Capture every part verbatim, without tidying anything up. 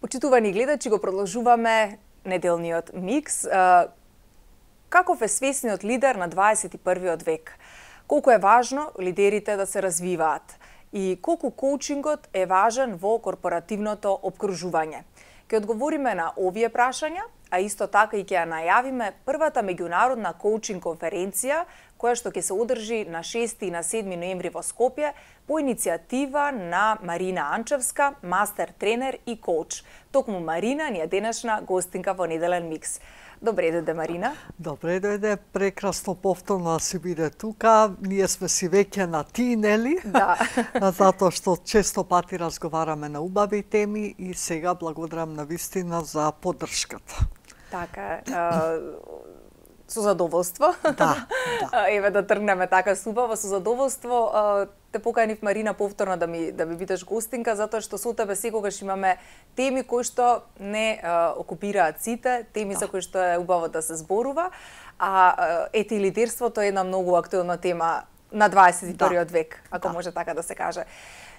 Почитувани гледачи, го продолжуваме неделниот микс. Каков е свесниот лидер на дваесет и првиот век? Колку е важно лидерите да се развиваат? И колку коучингот е важен во корпоративното опкружување? Ке одговориме на овие прашања, а исто така и ќе ја најавиме првата меѓународна коучинг конференција, која што ќе се одржи на шести и на седми ноември во Скопје по иницијатива на Марина Анчевска, мастер тренер и коуч. Токму Марина ни е денешна гостинка во неделен микс. Добре дојде, Марина. Добре дојде, прекрасно повторно да си биде тука. Ние сме си веќе на ти, нели? Да. Затоа што често пати разговараме на убави теми и сега благодарам на вистина за поддршката. Така, со задоволство. Да, да. Еве да тргнеме така субаво, со задоволство. Те поканив, Марина, повторно да ми да ми бидеш гостинка, затоа што со тебе секогаш имаме теми кои што не а, окупираат сите, теми да. За кои што е убаво да се зборува, а ете лидерството е една многу актуелна тема на дваесет и првиот да. Век, ако да. Може така да се каже.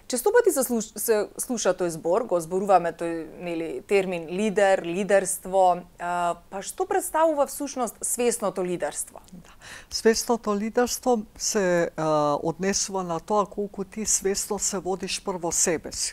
Често пати се, слуш, се слуша тој збор, го зборуваме тој нели термин лидер, лидерство, а, па што представува всушност свесното лидерство? Да. Свесното лидерство се а, однесува на тоа колку ти свесно се водиш прво себе си.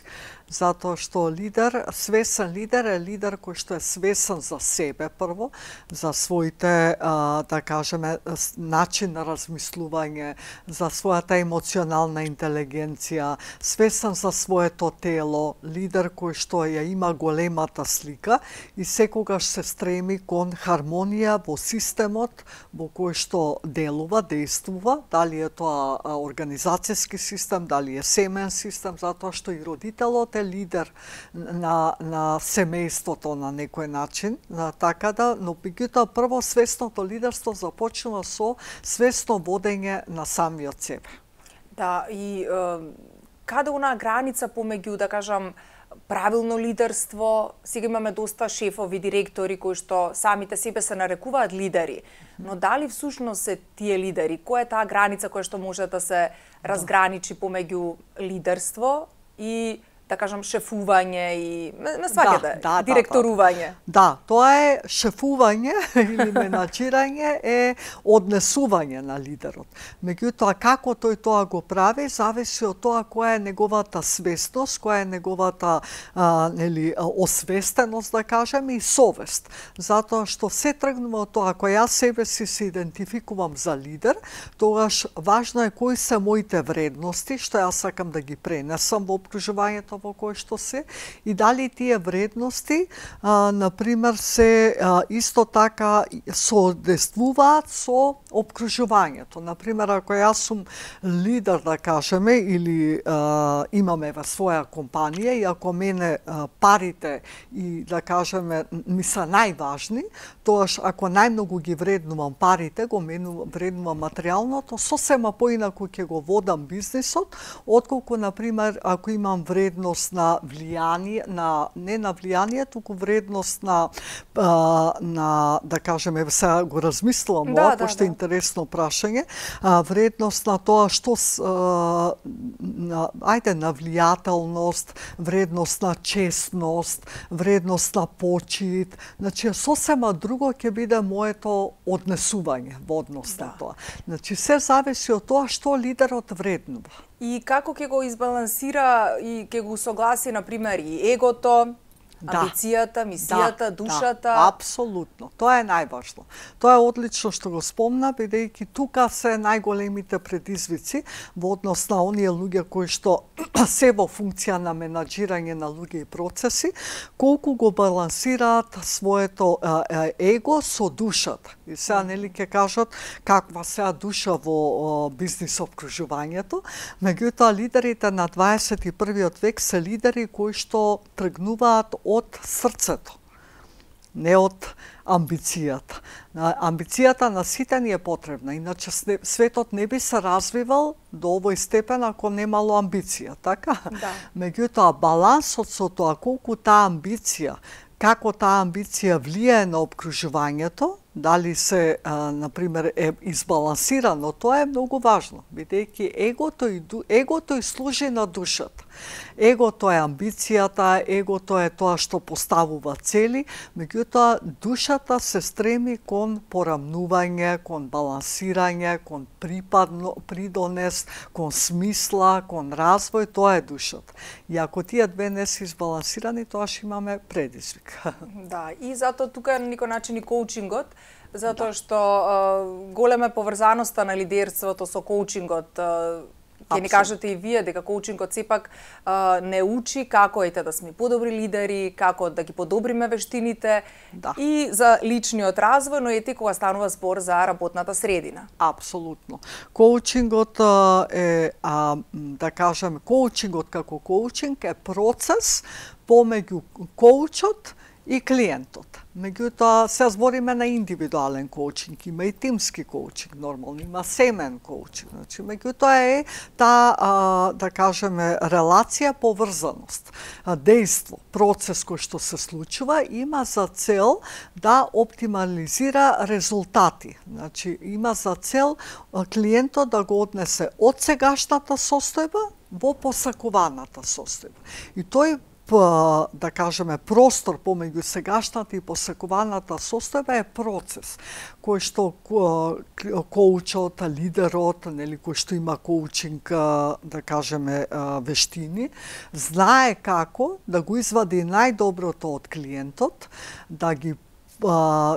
Затоа што лидер, свесен лидер е лидер кој што е свесен за себе прво, за своите, а, да кажеме, начин на размислување, за својата емоционална интелигенција, свесен за своето тело, лидер кој што ја има големата слика и секогаш се стреми кон хармонија во системот во кој што делува, действува, дали е тоа организацијски систем, дали е семеен систем, затоа што и родителот е лидер на, на семејството на некој начин, на, така да, но меѓутоа прво свесното лидерство започнува со свесно водење на самиот себе. Да, и е, каде она граница помеѓу, да кажам, правилно лидерство, сега имаме доста шефови, директори кои што самите себе се нарекуваат лидери, но дали всушност се тие лидери? Која е таа граница која што може да се разграничи помеѓу лидерство и да кажам шефување и на сваќате, да, да, директорување. Да, да, тоа е шефување или менаџирање е однесување на лидерот. Меѓутоа како тој тоа го прави зависи од тоа која е неговата свесност, која е неговата а, нели освестеност, да кажеме, и совест. Затоа што се тргнува од тоа кој јас себе си се идентификувам за лидер, тогаш важно е кои се моите вредности, што јас сакам да ги пренесам во опкружувањето во кој што се, и дали тие вредности, а, например, се а, исто така соодействуваат со опкружувањето. Например, ако јас сум лидер, да кажеме, или а, имаме во своја компанија, и ако мене а, парите и, да кажеме, ми се најважни, тоаш ако најмногу ги вреднувам парите, го мену, вреднувам материјалното, сосема поинаку ќе го водам бизнисот, отколку, например, ако имам вредност на влијание, на не на влијание, туку вредност на а, на да кажеме, сега го размислувам, да, ова, да, пошто да. е интересно прашање, а, вредност на тоа што а, на, ајде на влијателност, вредност на честност, вредност на почит, значи сосема друго ќе биде моето однесување во однос на да. тоа. Значи се зависи од тоа што лидерот вреднува. И како ќе го избалансира и ќе го согласи, например, и егото, Да. амбицијата, мисијата, Да, душата? Да, апсолутно. Тоа е најважно. Тоа е одлично што го спомна, бидејќи тука се најголемите предизвици во однос на оние луѓе кои што се во функција на менаџирање на луѓе и процеси, колку го балансираат своето е, его со душата. И сега нели ќе кажат каква сега душа во бизнис опкружувањето, меѓутоа лидерите на дваесет и првиот век се лидери кои што тргнуваат од срцето, не од амбицијата. Амбицијата на сите ни е потребна, иначе светот не би се развивал до овој степен ако немало амбиција, така? Да. Меѓутоа, балансот со тоа колку таа амбиција, како таа амбиција влијае на опкружувањето, дали се, а, например, е избалансирано, тоа е многу важно, бидејќи егото и егото и служи на душата. Егото е амбицијата, егото е тоа што поставува цели, меѓутоа душата се стреми кон порамнување, кон балансирање, кон припадно, придонес, кон смисла, кон развој, тоа е душата. И ако тие две не се избалансирани, тоа ќе имаме предизвик. Да, и затоа тука на некој начин и коучингот, затоа што uh, голема е поврзаноста на лидерството со коучингот. Uh, Ќе ни кажете и вие дека коучингот сепак uh, не учи како ете да сме подобри лидери, како да ги подобриме вештините, да, и за личниот развој, но ети кога станува збор за работната средина. Апсолутно. Коучингот uh, е, а, да кажеме, коучингот како коучинг е процес помеѓу коучот и клиентот. Меѓутоа, се збориме на индивидуален коучинг, има и тимски коучинг, нормално, има семен коучинг. Значи, меѓутоа е таа, а, да кажеме, релација, поврзаност, дејство, процес кој што се случува, има за цел да оптимализира резултати. Значи, има за цел клиентот да го однесе од сегашната состојба во посакуваната состојба. И тој, да кажеме, простор помеѓу сегашната и посакуваната состојба е процес кој што коучот, лидерот, нели, кој што има коучинг, да кажеме, вештини, знае како да го извади најдоброто од клиентот, да ги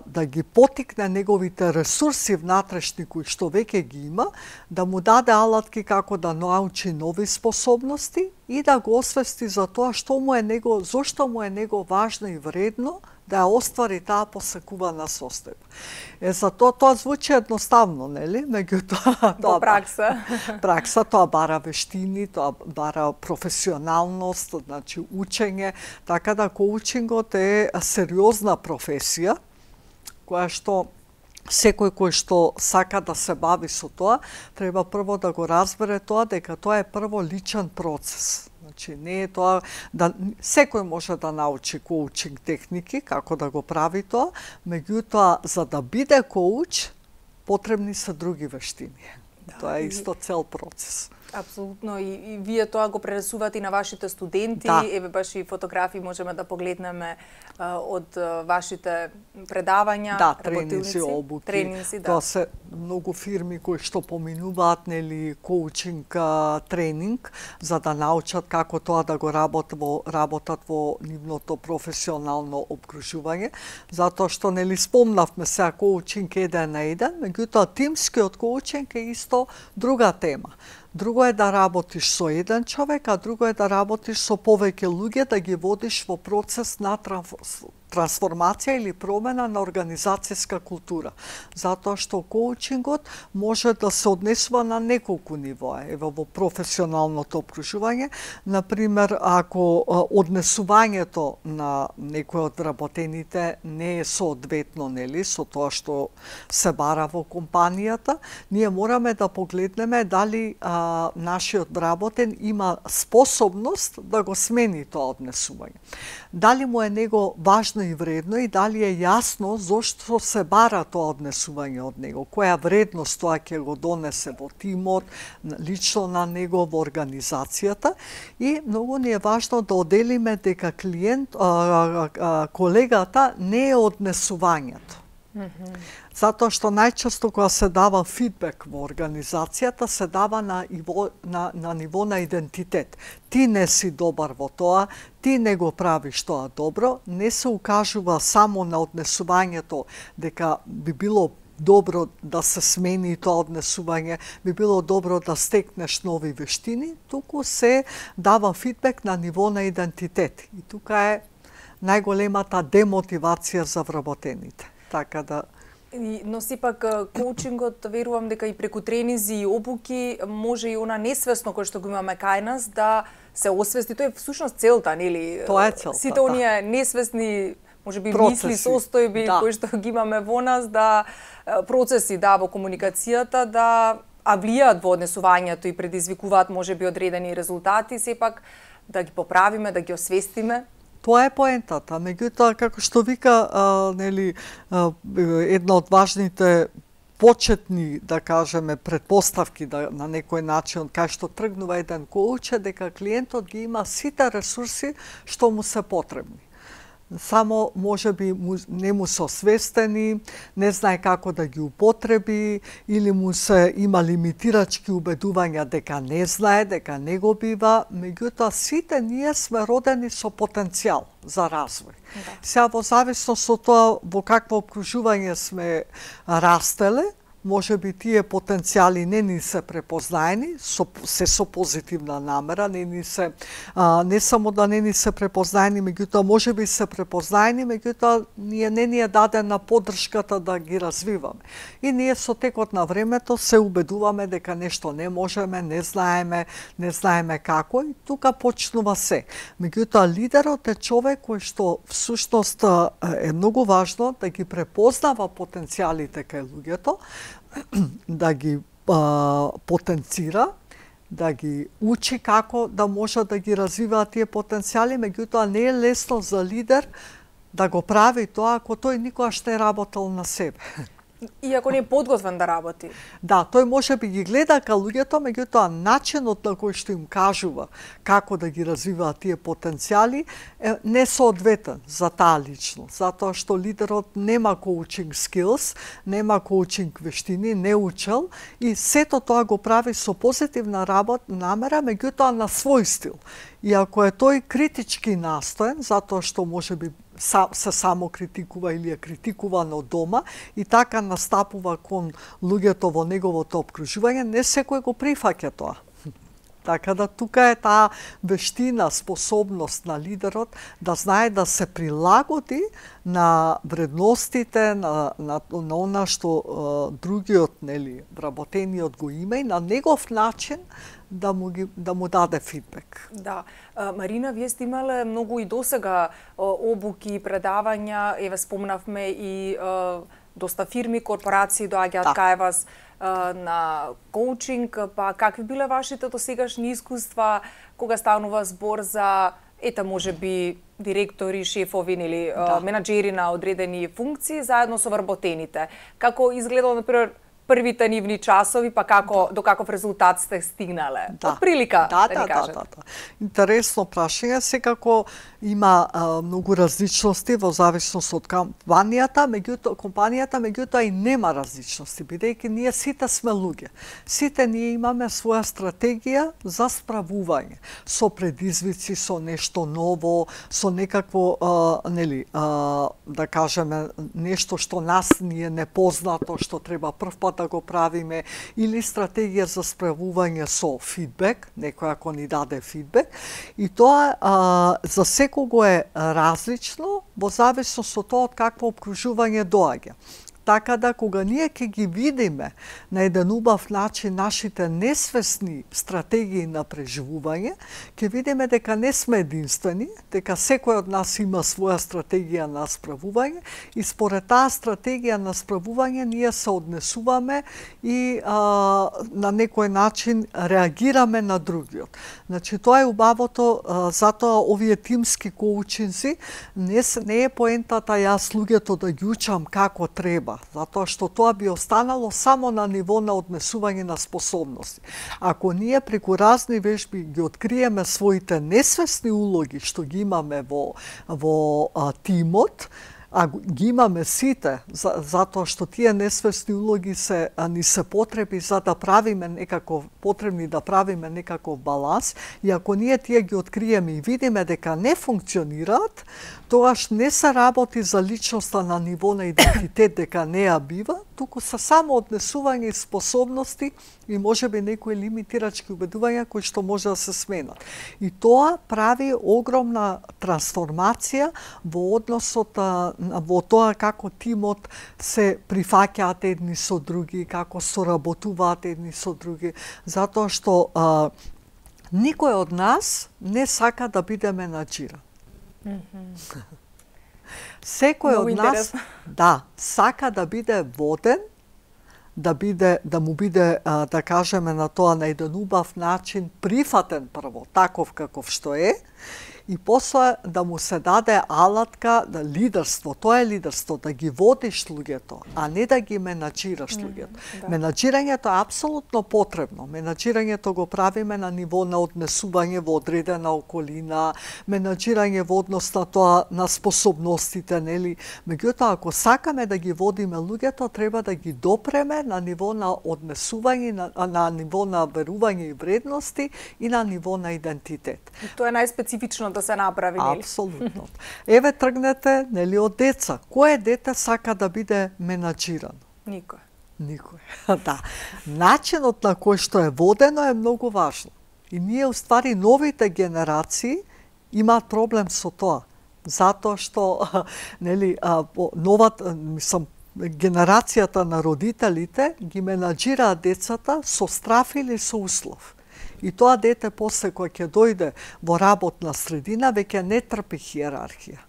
да ги потикне неговите ресурси внатрешни кои што веќе ги има, да му даде алатки како да научи нови способности и да го освести за тоа што му е него, зошто му е него важно и вредно да ја оствари таа посакувана состојба. Е, за тоа, тоа звучи едноставно, нели? Меѓутоа, тоа пракса. Пракса, тоа бара вештини, тоа бара професионалност, значи учење, така да коучингот е сериозна професија, која што секој кој што сака да се бави со тоа, треба прво да го разбере тоа дека тоа е прво личен процес. Значи, не е тоа да секој може да научи коучинг техники, како да го прави тоа, меѓутоа за да биде коуч потребни се други вештини. Да, тоа е исто цел процес. Апсолутно, и, и вие тоа го пренесувате и на вашите студенти, да. Еве баш и фотографии можеме да погледнеме а, од а, вашите предавања, да, тренинзи, обуки. Тренинзи, да. Тоа се многу фирми кои што поминуваат, нели, коучинг а, тренинг за да научат како тоа да го работат во работат во нивното професионално обкружување, затоа што, нели, спомнавме сега коучинг еден на еден, меѓутоа тимскиот коучинг е исто друга тема. Друго е да работиш со еден човек, а друго е да работиш со повеќе луѓе, да ги водиш во процес на трансформација или промена на организацијска култура. Затоа што коучингот може да се однесува на неколку нивоа. Ево, во професионалното обкружување, например, ако однесувањето на некој од работените не е соодветно, нели, со тоа што се бара во компанијата, ние мораме да погледнеме дали а, нашиот работен има способност да го смени тоа однесување. Дали му е него важно и вредно и дали е јасно зошто се бара тоа однесување од него, која вредност тоа ќе го донесе во тимот, лично на него, во организацијата, и многу ни е важно да оделиме дека клиент, а, а, колегата не е однесувањето. Mm-hmm. Затоа што најчесто кога се дава фидбек во организацијата, се дава на ниво на, на ниво на идентитет. Ти не си добар во тоа, ти не го правиш тоа добро, не се укажува само на однесувањето дека би било добро да се смени тоа однесување, би било добро да стекнеш нови вештини, туку се дава фидбек на ниво на идентитет. И тука е најголемата демотивација за вработените. Така да Но сепак коучингот, верувам дека и преку тренинзи и обуки може и она несвесно кој што го имаме кај нас да се освести. Тоа е всушност целта, нели? Тоа е целта. Сите оние да. несвесни, можеби мисли, состојби да. кои што ги имаме во нас, да процеси да во комуникацијата да а влијаат во однесувањето и предизвикуваат можеби одредени резултати, сепак да ги поправиме, да ги освестиме. Тоа е поентата. Меѓутоа, како што вика, а, нели, а, една од важните почетни, да кажеме, предпоставки да, на некој начин, кај што тргнува еден коуч, е дека клиентот ги има сите ресурси што му се потребни. Само може би му, не му се освестени, не знае како да ги употреби, или му се има лимитирачки убедувања дека не знае, дека не го бива, меѓутоа сите ние сме родени со потенцијал за развој. Да. Сега во зависност од тоа во какво окружување сме растеле, може би тие потенцијали не ни се препознаени, со, се со позитивна намера, не ни се, а, не само да не ни се препознаени, меѓутоа може би се препознаени, меѓутоа ние не ни е дадена поддршката да ги развиваме. И ние со текот на времето се убедуваме дека нешто не можеме, не знаеме, не знаеме како, и тука почнува се. Меѓутоа лидерот е човек кој што всушност е многу важно да ги препознава потенцијалите кај луѓето, да ги а, потенцира, да ги учи како да може да ги развиваат тие потенцијали, меѓутоа не е лесно за лидер да го прави тоа ако тој никогаш не работел на себе. И ако не е подготвен да работи. Да, тој може би ги гледа ка луѓето, меѓутоа начинот на кој што им кажува како да ги развиваат тие потенцијали е несоодветен за таа личност, затоа што лидерот нема коучинг skills, нема коучинг вештини, не учел, и сето тоа го прави со позитивна работа, намера, меѓутоа на свој стил. И ако е тој критички настоен, затоа што може би се само критикува или е критикуван од дома и така настапува кон луѓето во неговото обкружување, не секој го прифаќа тоа. Така да тука е таа вештина, способност на лидерот да знае да се прилагоди на вредностите, на, на, на она што е, другиот, нели, вработениот го има, и на негов начин да му, ги, да му даде фидбек. Да. Марина, вие сте имале многу и досега обуки, предавања, еве спомнавме и е, доста фирми, корпорации доаѓаат да. кај вас на коучинг, па какви биле вашите досегашни искуства кога станува збор за, ета може би, директори, шефови или да. менаџери на одредени функции заедно со вработените? Како изгледало, например, првите нивни часови, па како, до каков резултат сте стигнале? Да. Од прилика, да, да, да ни кажете. Да, да, да. Интересно прашање, секако има а, многу различности во зависност од компанијата, меѓутоа компанијата, меѓутоа и нема различности, бидејќи ние сите сме луѓе. Сите ние имаме своја стратегија за справување, со предизвици, со нешто ново, со некакво а, нели, а, да кажеме нешто што нас ни е непознато, што треба прв пат да го правиме, или стратегија за справување со фидбек, некој ако ни даде фидбек, и тоа а, за секого е различно во зависност од тоа од какво обкружување доаѓа. Така да, кога ние ќе ги видиме на еден убав начин нашите несвесни стратегии на преживување, ќе видиме дека не сме единствени, дека секој од нас има своја стратегија на справување, и според таа стратегија на справување ние се однесуваме и а, на некој начин реагираме на другиот. Значи, тоа е убавото, а, затоа овие тимски коучинзи не, не е поентата јас луѓето да ги учам како треба, затоа што тоа би останало само на ниво на однесување на способности. Ако ние преку разни вежби ги откриеме своите несвесни улоги што ги имаме во, во а, тимот, а ги имаме сите, за, затоа што тие несвесни улоги се, а, ни се потреби за да правиме некаков, потребни да правиме некаков баланс, и ако ние тие ги откриеме и видиме дека не функционираат, тоаш не се работи за личноста на ниво на идентитет дека не ја бива, туку се само однесување и способности и можеби некои лимитирачки убедувања кои што може да се сменат. И тоа прави огромна трансформација во односот во тоа како тимот се прифаќаат едни со други, како соработуваат едни со други, затоа што а, никој од нас не сака да биде менаџиран. Mm-hmm. Секој Много од нас интересно. да сака да биде воден, да биде да му биде а, да кажеме на тоа на еден убав начин прифатен прво таков каков што е, и после да му се даде алатка, да лидерство, тоа е лидерство, да ги водиш луѓето, а не да ги менаџираш луѓето. Mm, да. Менаџирањето е апсолутно потребно. Менаџирањето го правиме на ниво на однесување во одредена околина, менаџирање во однос на тоа, на способностите, нели? Меѓутоа, ако сакаме да ги водиме луѓето, треба да ги допреме на ниво на однесување, на, на ниво на верување и вредности и на ниво на идентитет. И тоа е најспецифично да се направи, нели? Апсолутно. Еве тргнете, нели, од деца. Кое дете сака да биде менаџирано? Никој. Никој. Да. Начинот на кој што е водено е многу важно. И ние, уствари, новите генерации имаат проблем со тоа. Затоа што, нели, новата, мислам, генерацијата на родителите ги менаџираат децата со страф или со услов. И тоа дете после кога ќе дојде во работна средина веќе не трпи хиерархија.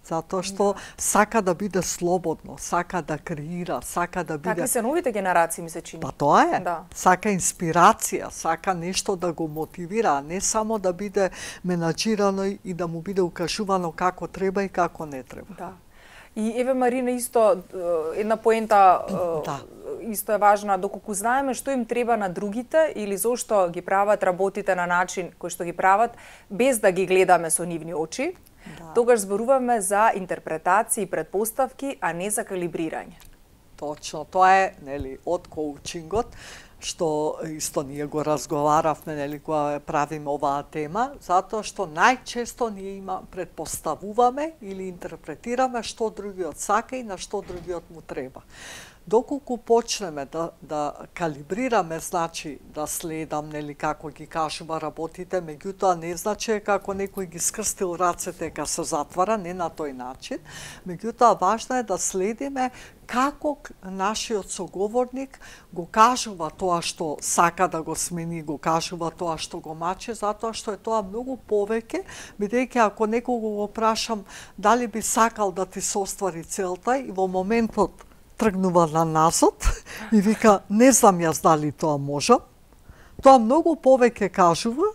Затоа што да. Сака да биде слободно, сака да креира, сака да биде... Такви се новите генерации, ми се чини. Па тоа е. Да. Сака инспирација, сака нешто да го мотивира, а не само да биде менаџирано и да му биде укажувано како треба и како не треба. Да. И еве, Марина, исто една поента да. Исто е важна, доколку знаеме што им треба на другите или зошто ги прават работите на начин кој што ги прават, без да ги гледаме со нивни очи, да. Тогаш зборуваме за интерпретации и предпоставки, а не за калибрирање. Точно, тоа е, нели, од коучингот, што исто ние го разговаравме, нели, кога правиме оваа тема, затоа што најчесто ние има предпоставуваме или интерпретираме што другиот сака и на што другиот му треба. Доколку почнеме да, да калибрираме, значи да следам, нели, како ги кажува работите, меѓутоа не значи како некој ги скрстил рацете ка се затвара, не на тој начин, меѓутоа важно е да следиме како нашиот соговорник го кажува тоа што сака да го смени, го кажува тоа што го мачи, затоа што е тоа многу повеќе, бидејќи ако некого го прашам дали би сакал да ти се оствари целта и во моментот тргнува на назад и вика, не знам јас дали тоа можам. Тоа многу повеќе кажува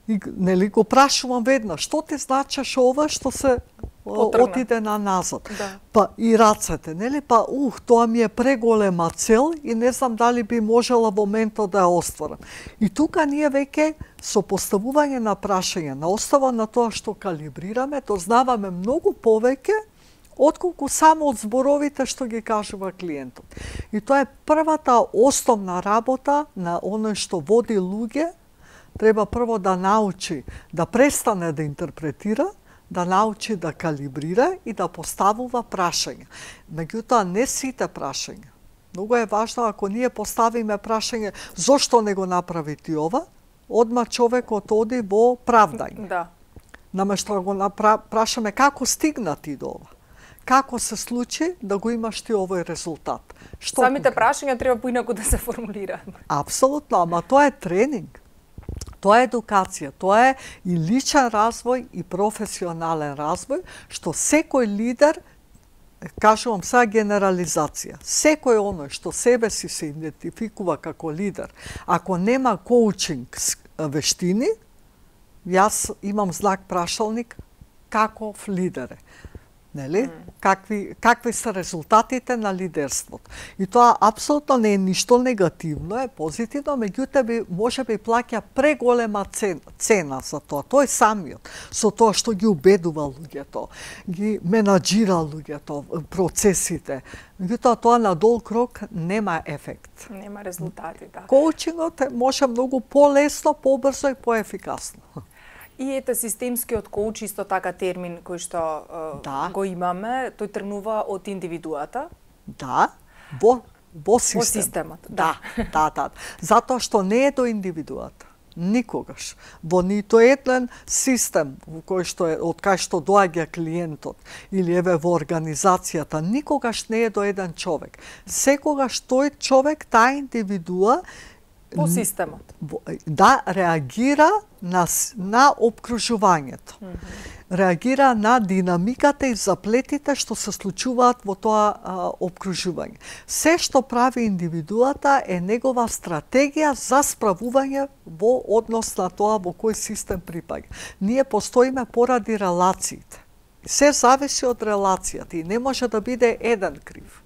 и, нели, го прашувам веднаш, што ти значиш ова што се Потргна. Отиде на назад. Да. Па и рацете, нели? Па ух, тоа ми е преголема цел и не знам дали би можела во моментот да ја остварам. И тука ние веќе со поставување на прашање, на основа на тоа што калибрираме, дознаваме многу повеќе отколку само од зборовите што ги кажува клиентот. И тоа е првата основна работа на оној што води луѓе, треба прво да научи да престане да интерпретира, да научи да калибрира и да поставува прашања. Меѓутоа, не сите прашања. Многу е важно, ако ние поставиме прашање зошто не го направи ти ова, одма човекот оди во правдање. Да. Наместо да го напра... прашаме како стигна ти до ова. Како се случи да го имаш ти овој резултат? Што Самите конкрет? Прашања треба поинаку да се формулираат. Апсолутно, ама тоа е тренинг. Тоа е едукација, тоа е и личен развој и професионален развој, што секој лидер, кажувам сега генерализација, секој оној што себе си се идентификува како лидер, ако нема коучинг вештини, јас имам знак прашалник каков лидер е. Нели? Mm. Какви, какви се резултатите на лидерството. И тоа апсолутно не е ништо негативно, е позитивно, меѓутоа би може би плаќа преголема цена, цена за тоа. Тој самиот, со тоа што ги убедува луѓето, ги менаџира луѓето, процесите. Меѓутоа тоа на долг рок нема ефект. Нема резултати, да. Коучингот може многу полесно, побрзо и поефикасно. И ете системскиот коуч, исто така термин кој што да. го имаме, тој тргнува од индивидуата. Да, во, во систем. Во системот, да. Да, да, да. Затоа што не е до индивидуата. Никогаш. Во нито еден систем во кој што е, од кај што доаѓа клиентот или еве во организацијата, никогаш не е до еден човек. Секогаш тој човек, таа индивидуа во системот. Да реагира на, на обкружувањето. Mm-hmm. реагира на динамиката и заплетите што се случуваат во тоа а, обкружување. Се што прави индивидуата е негова стратегија за справување во однос на тоа во кој систем припаѓа. Ние постоиме поради релациите. Се зависи од релацијата и не може да биде еден крив.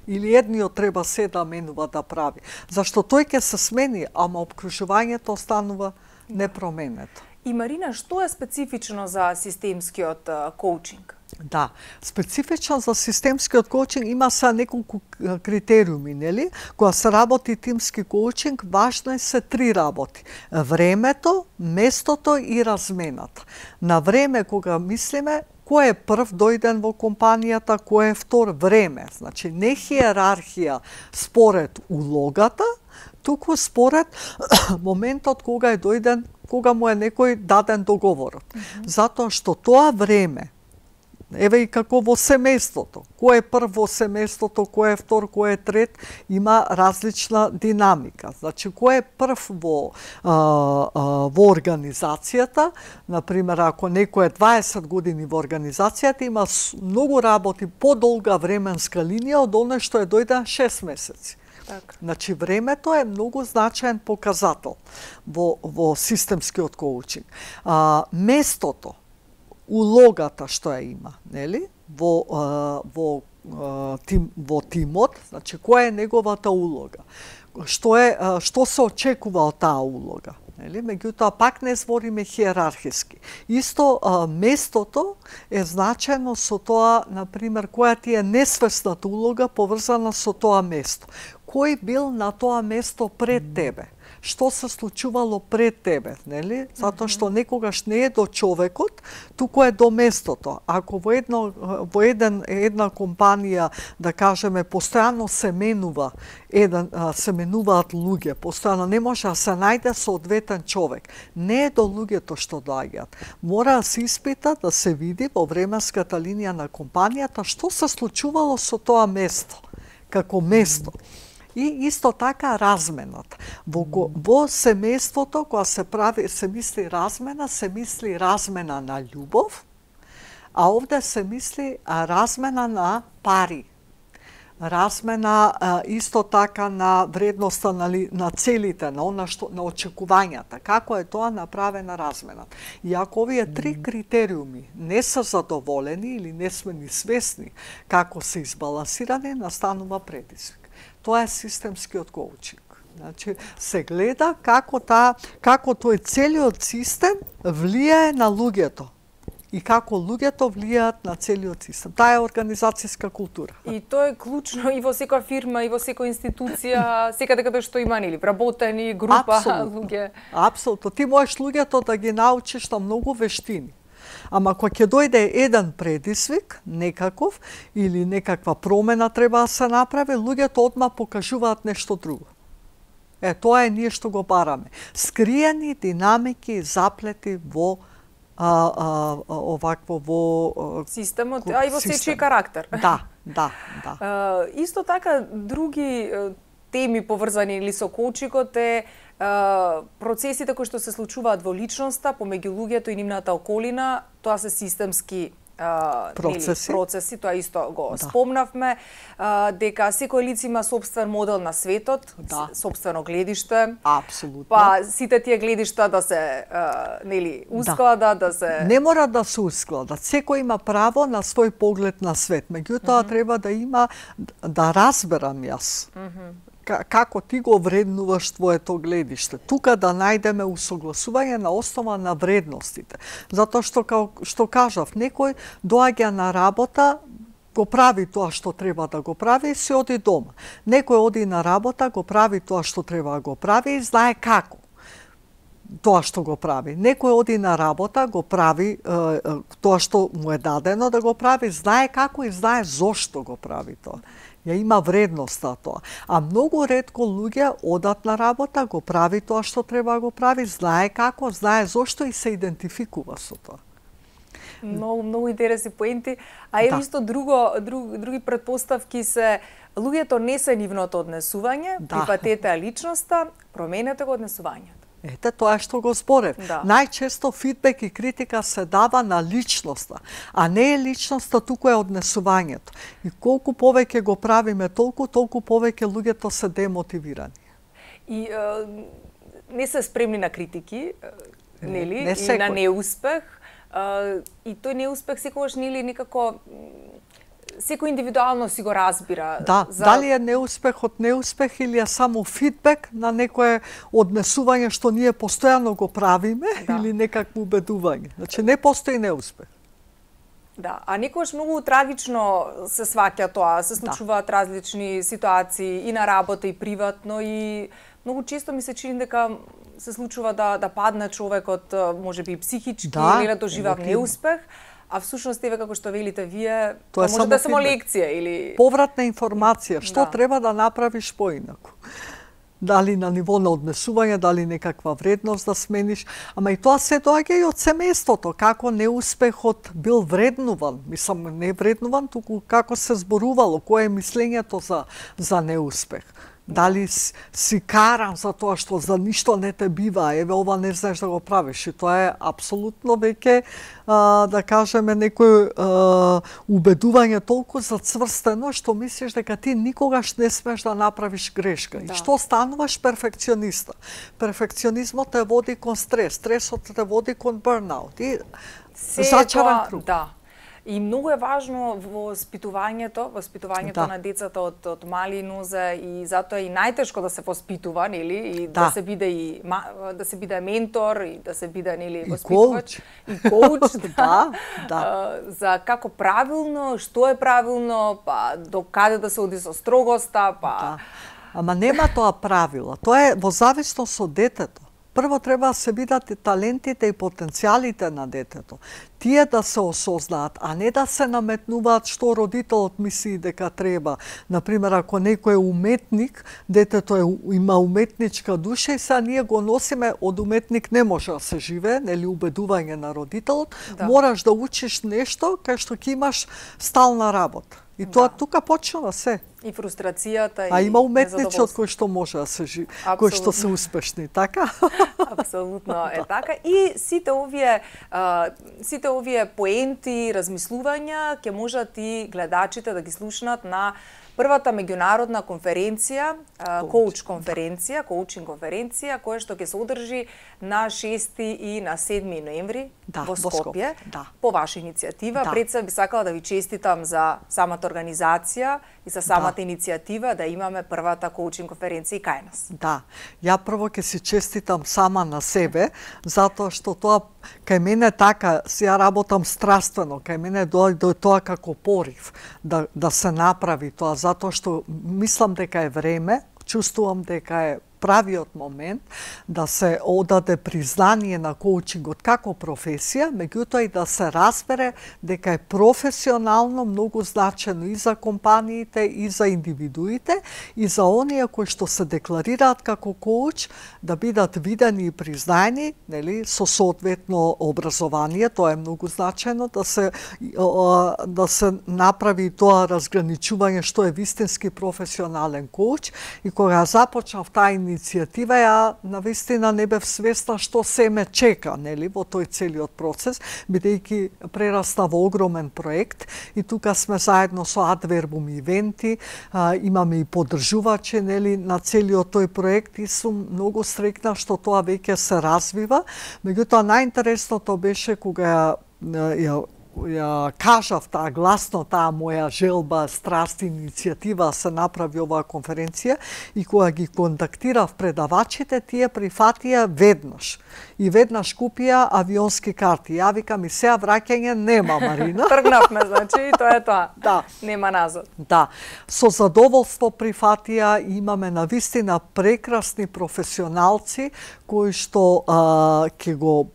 Или едниот треба се да менува да прави. Зашто тој ќе се смени, ама обкружувањето останува непроменето. И Марина, што е специфично за системскиот коучинг? Да, специфично за системскиот коучинг има са неколку критериуми, нели? Кога се работи тимски коучинг, важно е се три работи: времето, местото и размената. На време, кога мислиме, кој е прв дојден во компанијата, кој е втор, време. Значи, не хиерархија според улогата, туку според моментот кога е дојден, кога му е некој даден договорот. Mm -hmm. Затоа што тоа време, еве и како во семејството, кој е прв во семејството, кој е втор, кој е трет, има различна динамика. Значи, кој е прв во, а, а, во организацијата, например, ако некој е дваесет години во организацијата, има многу работи подолга временска линија од оној што е дојден шест месеци. Так. Значи, времето е многу значаен показател во, во системскиот коучинг. А, местото, улогата што ја има, нели? Во, а, во, а, тим, во тимот, значи, која е неговата улога? Што, е, а, што се очекува од таа улога? Нели? Меѓутоа, пак не збориме хиерархиски. Исто, а, местото е значено со тоа, например, која ти е несвесната улога поврзана со тоа место. Кој бил на тоа место пред тебе? Што се случувало пред тебе, нели? Затоа што некогаш не е до човекот, туку е до местото. Ако во едно во еден една компанија, да кажеме, постојано се менува, еден се менуваат луѓе, постојано не може да се најде соодветен човек. Не е до луѓето што доаѓаат. Мора да се испита, да се види во временската линија на компанијата што се случувало со тоа место, како место. И исто така размената. Во, во семејството, кога се прави, се мисли размена, се мисли размена на љубов, а овде се мисли размена на пари. Размена исто така на вредноста на, на целите, на она што на очекувањата. Како е тоа направена размена? И ако овие три критериуми не се задоволени или не сме ни свесни како се избалансирани, настанува предизвик. Тоа е системскиот коучинг. Значи, се гледа како та, како тој целиот систем влијае на луѓето и како луѓето влијаат на целиот систем. Таа е организацијска култура. И тоа е клучно и во секоја фирма, и во секоја институција, секаде каде што има, нели, вработени група луѓе. Апсолутно. Ти можеш луѓето да ги научиш на многу вештини. Ама кога ќе дојде еден предизвик, некаков, или некаква промена треба да се направи, луѓето одма покажуваат нешто друго. Е, тоа е ние што го бараме. Скриени динамики, заплети во а, а, овакво во системот, а и во сечи карактер. Да, да, да. А, исто така, други теми поврзани или со коучингот е процесите кои што се случуваат во личноста, помеѓу луѓето и нивната околина, тоа се системски а, процеси. Нели, процеси, тоа исто го да. спомнавме, а, дека секој лице има собствен модел на светот, да. собствено гледиште. Апсолутно. Па сите тие гледишта да се а, нели усклада, да. да се Не мора да сеускладат. Секој има право на свој поглед на свет. Меѓутоа mm -hmm. треба да има да разберам јас. Mm -hmm. Како ти го вреднуваш твоето гледиште. Тука да најдеме усогласување на основа на вредностите. Затоа што, као, што кажав, некој доаѓа на работа, го прави тоа што треба да го прави и се оди дома. Некој оди на работа, го прави тоа што треба да го прави и знае како тоа што го прави. Некој оди на работа, го прави е, е, тоа што му е дадено да го прави, знае како и знае зошто го прави тоа. Ја има вредност на тоа. А многу ретко луѓе одат на работа, го прави тоа што треба да го прави, знае како, знае зошто и се идентификува со тоа. Многу, многу интересни поенти. А е да. Исто друго, друг, други предпоставки се луѓето не се нивното однесување, да. Прифатете личноста, променете го однесувањето. Ете, тоа е што го зборев. Да. Најчесто фидбек и критика се дава на личноста, а не е личноста, туку е однесувањето. И колку повеќе го правиме толку, толку повеќе луѓето се демотивирани. И е, не се спремни на критики, нели? Не, не и на неуспех. Е, и тој неуспех секогаш нели некако секој индивидуално си го разбира. Да, за... дали е неуспех од неуспех или е само фидбек на некое однесување што ние постојано го правиме, да, или некакво убедување. Значи не постои неуспех. Да, а некогаш многу трагично се сваќа тоа, се случуваат да. различни ситуации и на работа и приватно и многу често ми се чини дека се случува да да падне човекот можеби психички да, или да доживува неуспех. А всушност еве како што велите вие, тоа може да е само лекција или повратна информација, што да. треба да направиш поинаку. Дали на ниво на однесување, дали некаква вредност да смениш, ама и тоа се доаѓа и од семејството, како неуспехот бил вреднуван, мислам не вреднуван, туку како се зборувало, кое е мислењето за за неуспех. Дали си каран за тоа што за ништо не те бива, еве ова не знаеш да го правиш. И тоа е апсолутно веќе, а, да кажеме, некој а, убедување толку зацврстено што мислиш дека ти никогаш не смеш да направиш грешка. Да. И што стануваш перфекциониста. Перфекционизмот те води кон стрес, стресот те води кон бърнаут. И зачаран круг. Да. И многу е важно во воспитувањето, воспитувањето да. на децата од, од мали нозе и затоа е и најтешко да се воспитува, нели, и да, да се биде и да се биде ментор и да се биде нели воспитувач и коуч, да, да, да. за како правилно, што е правилно, па до каде да се оди со строгоста, па да. Ама нема тоа правило, тоа е во зависност од детето. Прво треба да се видат и талентите и потенцијалите на детето. Тие да се осознаат, а не да се наметнуваат што родителот мисли дека треба. Например, ако некој е уметник, детето е, има уметничка душа и сега ние го носиме, од уметник не може да се живее, нели убедување на родителот, да. Мораш да учиш нешто кај што ќе имаш стална работа. И тоа да. Тука почнува се. И фрустрацијата, а и има уметници од кои што може да се живи, кои што се успешни, така? Апсолутно е така. И сите овие а, сите овие поенти, размислувања ќе можат и гледачите да ги слушнат на првата меѓународна конференција, коуч конференција, коучинг конференција, која што ќе се одржи на шести и на седми ноември да, во Скопје, да. По ваша иницијатива. Да. Пред се би сакала да ви честитам за самата организација и за самата да. иницијатива да имаме првата коучинг конференција кај нас. Да, ја прво ќе си честитам сама на себе, затоа што тоа кај мене така, ја работам страствено, кај мене дојде тоа како порив да, да се направи тоа, затоа што мислам дека е време, чувствувам дека е правиот момент да се одаде признание на коучингот како професија, меѓутоа и да се разбере дека е професионално многу значено и за компаниите, и за индивидуите, и за оние кои што се декларираат како коуч, да бидат видени и признани, нели, со соодветно образование, тоа е многу значено, да се, да се направи тоа разграничување што е вистински професионален коуч. И кога започнав таа иницијатива, ја навистина не бев свесна што се ме чека, нели, во тој целиот процес, бидејќи прерасна во огромен проект и тука сме заедно со Адвербум ивенти, а, имаме и поддржувачи, нели, на целиот тој проект и сум многу среќна што тоа веќе се развива. Меѓутоа најинтересното беше кога ја, ја ја кажав таа гласно таа моја желба, страст, иницијатива се направи оваа конференција и кога ги контактирав предавачите, тие прифатија веднаш. И веднаш купија авионски карти. Ја викам и сега враќање нема, Марина. Тргнавме, значи, тоа е тоа. Да. Нема назад. Да. Со задоволство прифатија, имаме навистина прекрасни професионалци кои што а, ќе го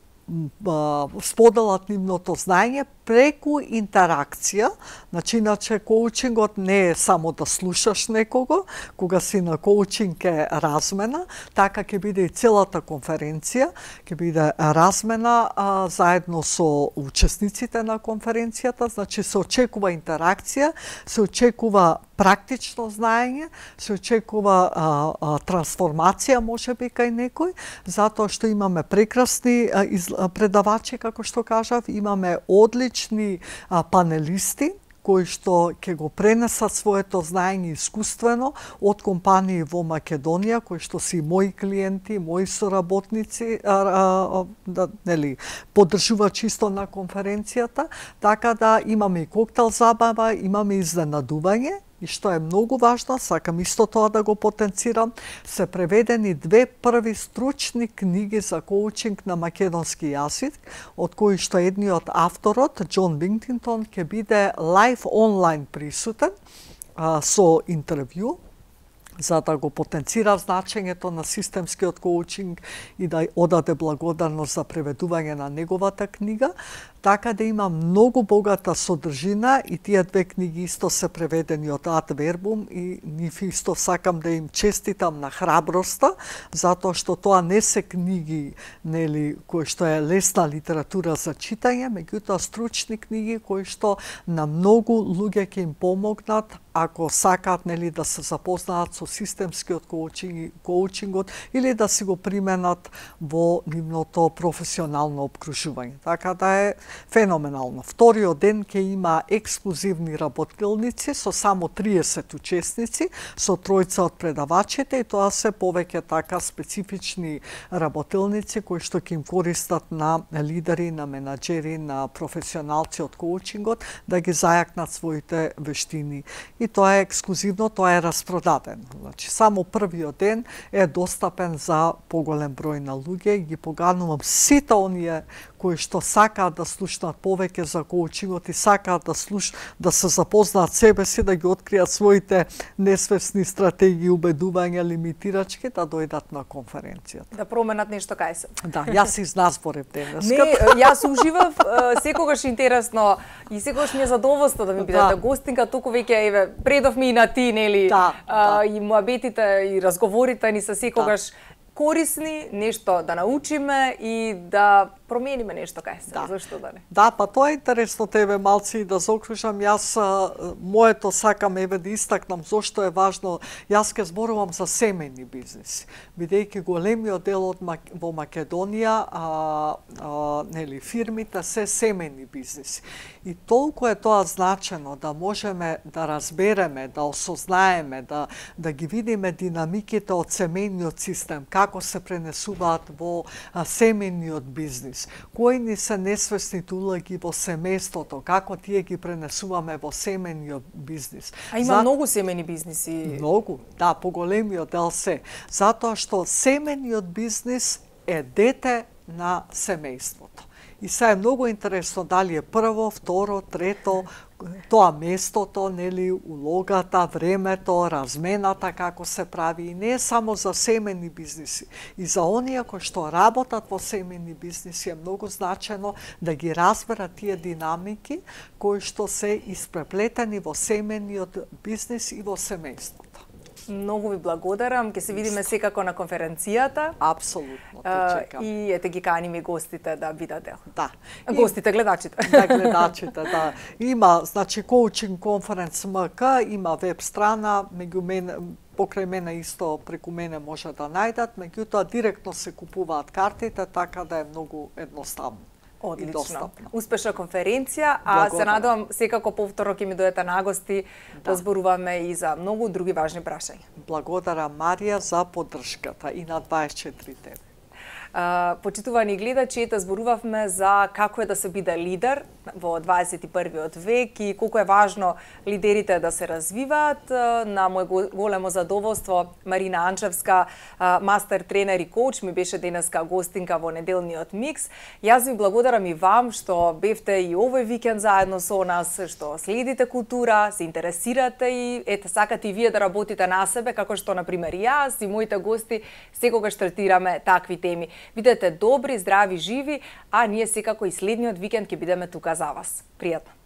споделат нивното знаење преку интеракција. Значи, иначе коучингот не е само да слушаш некого, кога си на коучинг е размена, така ќе биде и целата конференција, ќе биде размена а, заедно со учесниците на конференцијата, значи се очекува интеракција, се очекува практично знаење, се очекува а, а, трансформација, може би кај некој, затоа што имаме прекрасни а, из, а, предавачи, како што кажав, имаме одлични а, панелисти, кои што ќе го пренесат своето знаење искуствено од компании во Македонија, кои што си мои клиенти, мои соработници, а, а, да, нели, поддржуваат чисто на конференцијата, така да имаме и коктел забава, имаме изненадување. И што е многу важно, сакам исто тоа да го потенцирам, се преведени две први стручни книги за коучинг на македонски јазик, од кои што едниот авторот, Џон Бингтон, ќе биде лайв онлайн присутен а, со интервју, за да го потенцира значењето на системскиот коучинг и да одаде благодарност за преведување на неговата книга, така да има многу богата содржина и тие две книги исто се преведени од Ad Verbum и нив исто сакам да им честитам на храброста, затоа што тоа не се книги, нели, кои што е лесна литература за читање, меѓутоа стручни книги кои што на многу луѓе ќе им помогнат ако сакаат, нели, да се запознаат со системскиот коучинг, коучингот или да си го применат во нивното професионално обкружување. Така да е феноменално. Вториот ден ќе има ексклузивни работилници со само триесет учесници, со тројца од предавачите, и тоа се повеќе така специфични работилници кои што ќе им користат на лидери, на менаџери, на професионалци од коучингот да ги зајакнат своите вештини. И тоа е ексклузивно, тоа е распродадено. Значи, само првиот ден е достапен за поголем број на луѓе и ги поганувам сите оние кои што сакаат да слушнат повеќе за коучингот и сакаат да слуш, да се запознаат себе си, да ги откријат своите несвесни стратегии, убедувања, лимитирачки, да дојдат на конференцијата. Да променат нешто кај се. Да, јас изназборев денес. Не, јас уживав, секогаш интересно и секогаш ми е задоволство да ми бидете да. Гостинка, туку веќе еве предов ми и на ти, нели? Да, а, да. И муабетите и разговорите ни се секогаш да. Корисни, нешто да научиме и да промениме нешто кај се. Да. Зашто да не? Да, па тоа е интересно тебе малци и да заокружам. Јас моето сакам еве да истакнам зошто е важно. Јас ке зборувам за семејни бизнеси. Бидејќи големиот дел од Мак... во Македонија, а, а, нели, фирмите се семејни бизнеси. И толку е тоа значено да можеме да разбереме, да осознаеме, да да ги видиме динамиките од семејниот систем, како се пренесуваат во а, семејниот бизнес. Кои ни се несвесните улоги во семејството, како тие ги пренесуваме во семејниот бизнес. А има За... многу семејни бизнеси. Многу, да, поголемиот дел се. Затоа што семејниот бизнес е дете на семејството. И сега е многу интересно дали е прво, второ, трето, тоа местото, нели, улогата, времето, размената како се прави. И не е само за семејни бизнеси. И за оние кои што работат во семејни бизнеси е многу значено да ги разберат тие динамики кои што се испреплетени во семејниот бизнес и во семејството. Многу ви благодарам, ќе се видиме секако на конференцијата. Апсолутно, те чекам. И ете ги каниме гостите да бидат дел. Да. Гостите, гледачите. Да, гледачите, да. Има, значи, Coaching Conference ем ка, има веб страна, меѓу мене, покрај мене исто, преку мене може да најдат, меѓутоа директно се купуваат картите, така да е многу едноставно. Одлично. Успешна конференција, а се надевам секако повторно ќе ми дојдете на гости да зборуваме и за многу други важни прашања. Благодарам, Марија, за поддршката и на дваесет и четири тебе. Uh, почитувани гледачи, ете зборувавме за како е да се биде лидер во дваесет и првиот век и колку е важно лидерите да се развиваат. На мој големо задоволство Марина Анчевска, мастер тренер и коуч, ми беше денеска гостинка во неделниот микс. Јас ви благодарам и вам што бевте и овој викенд заедно со нас, што следите култура, се интересирате и ете сакате и вие да работите на себе, како што на пример јас и моите гости секогаш третираме такви теми. Бидете добри, здрави, живи, а ние секако и следниот викенд ќе бидеме тука за вас. Пријатно!